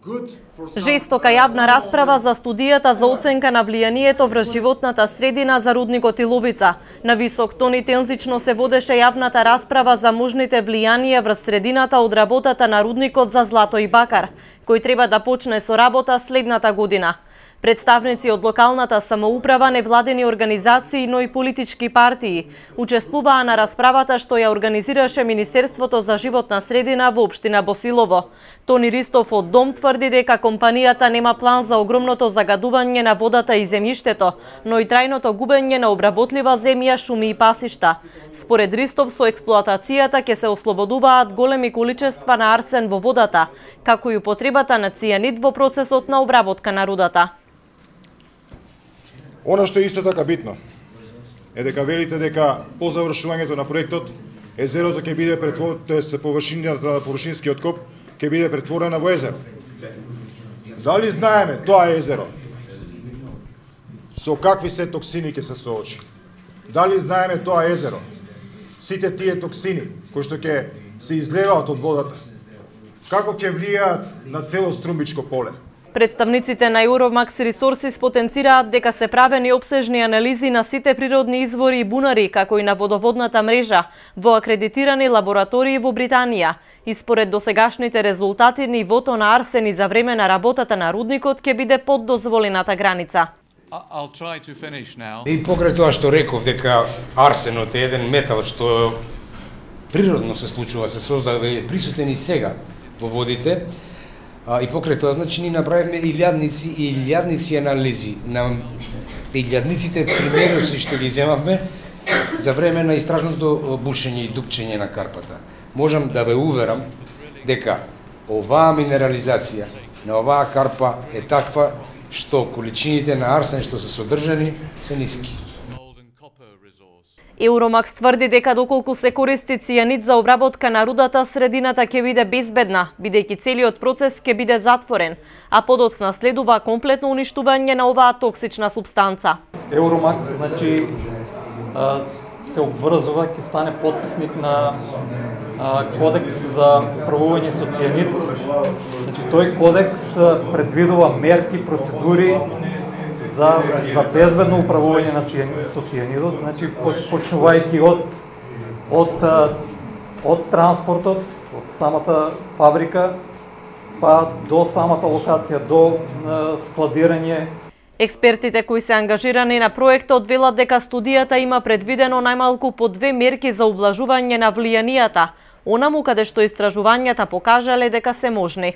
Жестока јавна расправа за студијата за оценка на влијанието врз животната средина за рудникот Иловица. На висок тон и тензично се водеше јавната расправа за можните влијанија врз средината од работата на рудникот за злато и бакар, кој треба да почне со работа следната година. Представници од локалната самоуправа, невладени организации, но и политички партии учествуваа на расправата што ја организираше Министерството за животна средина во општина Босилово. Тони Ристов од Дом тврди дека компанијата нема план за огромното загадување на водата и земјиштето, но и трајното губење на обработлива земја, шуми и пасишта. Според Ристов, со експлоатацијата ќе се ослободуваат големи количества на арсен во водата, како и употребата на цијанид во процесот на обработка на рудата. Она што е исто така битно е дека велите дека по завршувањето на проектот езерото ќе биде претворено, тоест површината на површинскиот коп ќе биде претворена во езеро. Дали знаеме тоа езеро со какви се токсини ќе се соочи? Дали знаеме тоа езеро сите тие токсини кои што ќе се излеваат од водата како ќе влијаат на цело Струмбичко поле? Представниците на Euromax Resources потенцираат дека се правени обсежни анализи на сите природни извори и бунари, како и на водоводната мрежа, во акредитирани лаборатории во Британија. И според досегашните резултати, нивото на арсени за време на работата на рудникот ќе биде под дозволената граница. И покрај тоа што реков дека арсенот е еден метал што природно се случува, се создава и присутен и сега во водите, и покрај тоа, значи, ни направивме илјадници анализи на илјадниците примероси што ги земавме за време на истражното бушење и дупчење на карпата. Можам да ве уверам дека оваа минерализација на оваа карпа е таква што количините на арсен што се содржани се ниски. Euromax тврди дека доколку се користи цијанид за обработка на рудата, средината ќе биде безбедна, бидејќи целиот процес ќе биде затворен, а подоцна следува комплетно уништување на оваа токсична супстанца. Euromax, значи, се обврзува, ќе стане потписник на кодекс за управување со цијанид. Значи, тој кодекс предвидува мерки, процедури за безбедно управување на со цијанидот, значи почнувајќи од транспортот, од самата фабрика, па до самата локација, до складирање. Експертите кои се ангажирани на проектот велат дека студијата има предвидено најмалку по 2 мерки за ублажување на влијанијата, онаму каде што истражувањата покажале дека се можни.